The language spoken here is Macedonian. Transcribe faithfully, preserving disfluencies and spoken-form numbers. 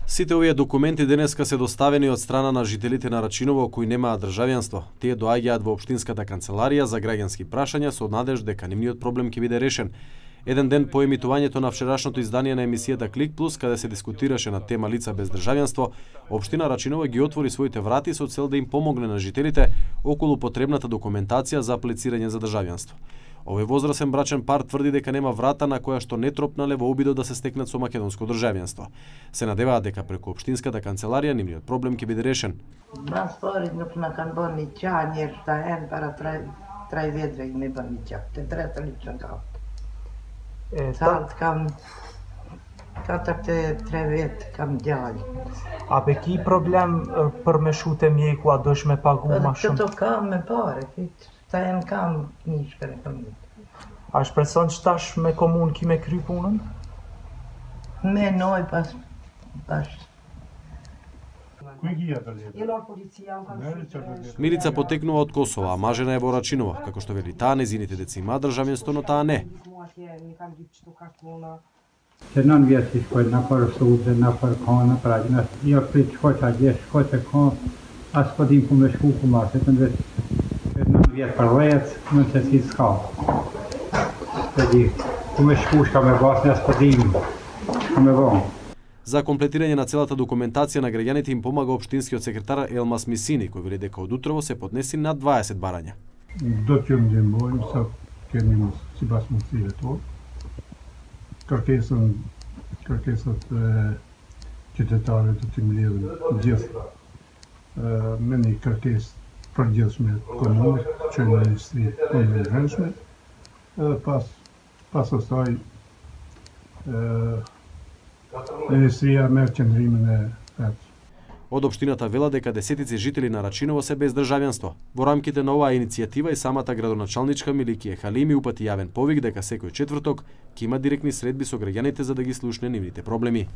Сите овие документи денеска се доставени од страна на жителите на Рачиново кои немаат државјанство. Тие доаѓаат во општинската канцеларија за граѓански прашања со надеж дека нивниот проблем ќе биде решен. Еден ден по емитувањето на вчерашното издание на емисијата Клик Плюс, каде се дискутираше на тема лица без државјанство, општина Рачиново ги отвори своите врати со цел да им помогне на жителите околу потребната документација за аплицирање за државјанство. Овој возрасен брачен пар тврди дека нема врата на која што не тропнале во обидот да се стекнат со македонско државјанство. Се надеваат дека преку општинската канцеларија нивниот проблем ќе биде решен. Нас поридно на канбони чањер та ен пара трај трај ведра и не бани чак. Те трета лично као. Е, Салт кам катакте тревет кам дјали. A pe ki problem për me shute mjeku, a dosh me pagu ma shumë? Këto kam me pare, fit. Ta janë kam një shkër e komunë. A shpreson që tash me komunë ki me kry punën? Me noj pas pas. Милица потекнува од Косово, а мажена е во Рачиново, како што вели таа, незините деца имаат државјанство, но таа не. Që nën vjetë që shkojnë në për sudë, në për kanë, për agjë, jo këtë shkoj që agjë, shkoj që ka, asë po dim ku me shku ku ma, se të në nën vjetë për dhejët, në që si s'ka. Se di, ku me shku shka me basë, asë po dim, shka me vonë. За комплетирање на целата документација на граѓаните им помага општинскиот секретар Елмас Мисини, кој вели дека од утрово се поднеси над дваесет барања. Do të jemi ndihmojmë sa kemi mos sipas mundësive tonë. Kërkesën, kërkesat e qytetarëve të të mbledhin gjithë me një kërkesë përgjithshme komunit, që në Ministri Punëve të Brendshme, edhe pas pas asaj Ministria merr qëndrimin e vet. Од општината вела дека десетици жители на Рачиново се без државјанство. Во рамките на оваа иницијатива и самата градоначалничка Миликија Халими упати јавен повик дека секој четврток ќе има директни средби со граѓаните за да ги слушне нивните проблеми.